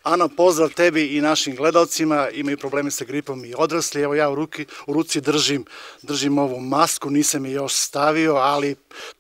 Ana, pozdrav tebi i našim gledalcima. Imaju probleme sa gripom i odrasli. Evo ja u ruci držim ovu masku, nisam je još stavio, ali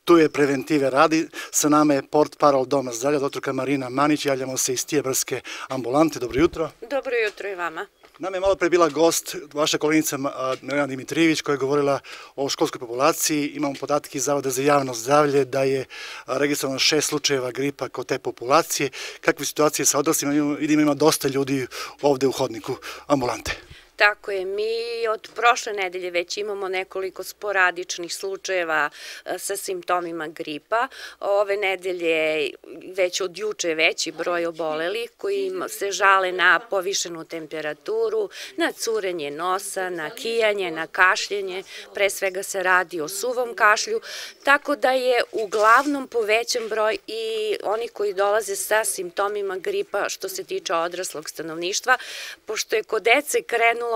tu je preventive radi. Sa nama je portparol Doma zdravlja, doktorka Marina Manić. Javljamo se iz Tijebarske ambulante. Dobro jutro. Dobro jutro i vama. Nam je malo pre bila gost, vaša koleginica Milena Dimitrijević, koja je govorila o školskoj populaciji. Imamo podatke iz Zavoda za javno zdravlje da je registrovano 6 slučajeva gripa kod te populacije. Kakve situacije sa odraslima? Vidimo ima dosta ljudi ovde u hodniku ambulante. Tako je, mi od prošle nedelje već imamo nekoliko sporadičnih slučajeva sa simptomima gripa. Ove nedelje već od juče veći broj obolelih koji se žale na povišenu temperaturu, na curenje nosa, na kijanje, na kašljenje. Pre svega se radi o suvom kašlju, tako da je uglavnom povećan broj i oni koji dolaze sa simptomima gripa što se tiče odraslog stanovništva, pošto je kod dece krenulo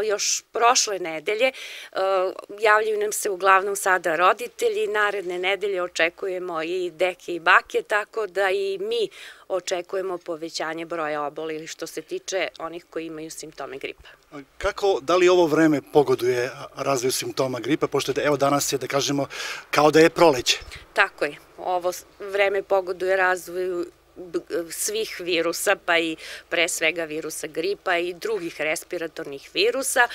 još prošle nedelje, javljaju nam se uglavnom sada roditelji, naredne nedelje očekujemo i deke i bake, tako da i mi očekujemo povećanje broja obolelih što se tiče onih koji imaju simptome gripa. Da li ovo vreme pogoduje razvoju simptoma gripa, pošto evo danas je, da kažemo, kao da je proleće? Tako je, ovo vreme pogoduje razvoju svih virusa, pa i pre svega virusa gripa i drugih respiratornih virusa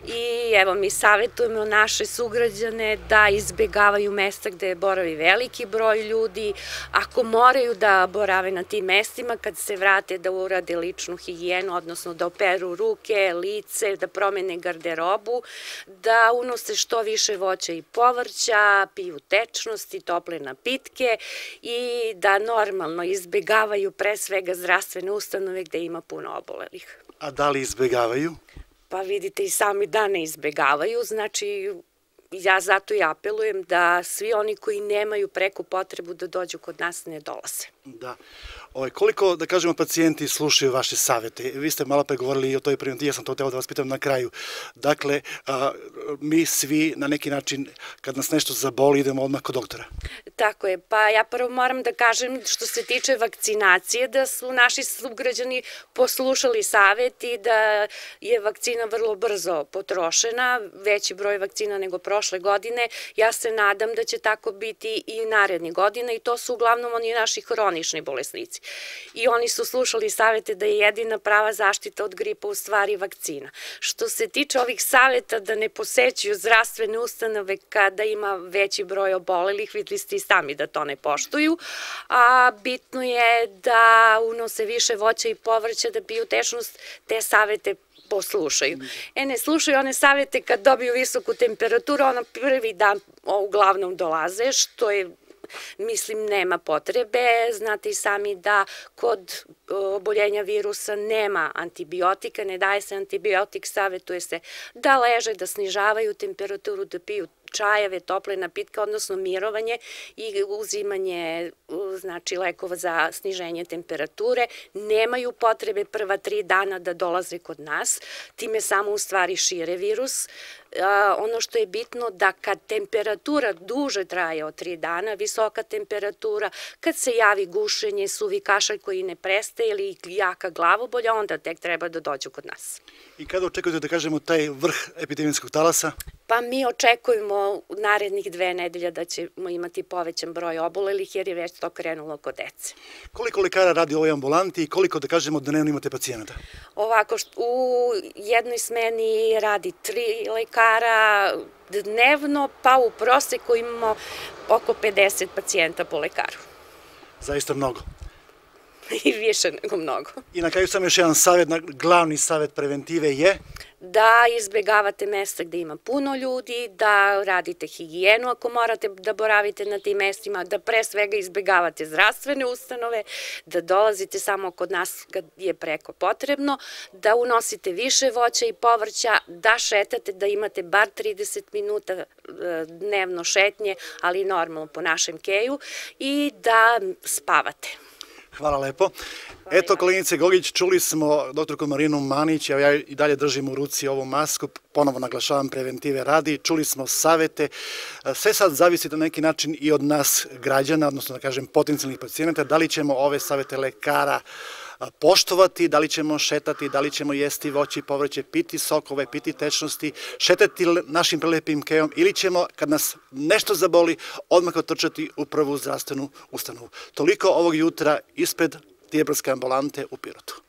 i evo mi savjetujemo naše sugrađane da izbjegavaju mesta gde boravi veliki broj ljudi, ako moraju da borave na tim mestima, kad se vrate da urade ličnu higijenu, odnosno da operu ruke, lice, da promene garderobu, da unose što više voća i povrća, piju tečnosti, tople napitke i da normalno izbjegavaju pre svega zdravstvene ustanove gde ima puno obolelih. A da li izbjegavaju? Pa vidite i sami da ne izbjegavaju, znači ja zato i apelujem da svi oni koji nemaju preku potrebu da dođu kod nas ne dolaze. Da. Koliko, da kažemo, pacijenti slušaju vaše savete? Vi ste malo pre govorili i o toj preventivi, ja sam to teo da vas pitam na kraju. Dakle, mi svi na neki način, kad nas nešto zaboli, idemo odmah kod doktora. Tako je, pa ja prvo moram da kažem što se tiče vakcinacije, da su naši sugrađani poslušali savet i da je vakcina vrlo brzo potrošena, veći broj vakcina nego prošle godine. Ja se nadam da će tako biti i narednih godina i to su uglavnom oni naši hronični bolesnici. I oni su slušali savete da je jedina prava zaštita od gripa u stvari vakcina. Što se tiče ovih saveta da ne posećuju zdravstvene ustanove kada ima veći broj obolelih, videli ste i sami da to ne poštuju, a bitno je da unose više voća i povrća, da piju tečnost, te savete poslušaju. Ne slušaju one savete kad dobiju visoku temperaturu, ono prvi dan uglavnom dolaze, što je, mislim, nema potrebe. Znate i sami da kod oboljenja virusa nema antibiotika, ne daje se antibiotik, savjetuje se da leže, da snižavaju temperaturu, da piju čajeve, tople napitke, odnosno mirovanje i uzimanje lekova za sniženje temperature. Nemaju potrebe prva 3 dana da dolaze kod nas, time samo u stvari šire virus. Ono što je bitno da kad temperatura duže traje od 3 dana, visoka temperatura, kad se javi gušenje, suvi kašalj koji ne prestaje ili jaka glavobolja, onda tek treba da dođu kod nas. I kada očekujete, da kažemo, taj vrh epidemijskog talasa? Pa mi očekujemo narednih 2 nedelje da ćemo imati povećan broj obolelih jer je već to krenulo kod dece. Koliko lekara radi u ovoj ambulanti i koliko, da kažemo, dnevno imate pacijenata? Ovako, u jednoj smeni radi 3 lekara dnevno, pa u proseku imamo oko 50 pacijenta po lekaru. Zaista mnogo. I više nego mnogo. I na kraju sam još jedan savjet, glavni savjet preventive je? Da izbjegavate mesta gde ima puno ljudi, da radite higijenu ako morate da boravite na tim mestima, da pre svega izbjegavate zdravstvene ustanove, da dolazite samo kod nas kad je preko potrebno, da unosite više voća i povrća, da šetate, da imate bar 30 minuta dnevno šetnje, ali normalno po našem keju, i da spavate. Hvala lepo. Eto, koleginice Gogić, čuli smo doktorku Marinu Manić, ja i dalje držim u ruci ovu masku, ponovo naglašavam, preventive radi, čuli smo savete, sve sad zavisi na neki način i od nas građana, odnosno da kažem potencijalnih pacijenata, da li ćemo ove savete lekara poštovati, da li ćemo šetati, da li ćemo jesti voće i povrće, piti sokove, piti tečnosti, šetati našim prelepim kejom ili ćemo, kad nas nešto zaboli, odmah otrčati u prvu zdravstvenu ustanovu. Toliko ovog jutra ispred Tijebrske ambulante u Pirotu.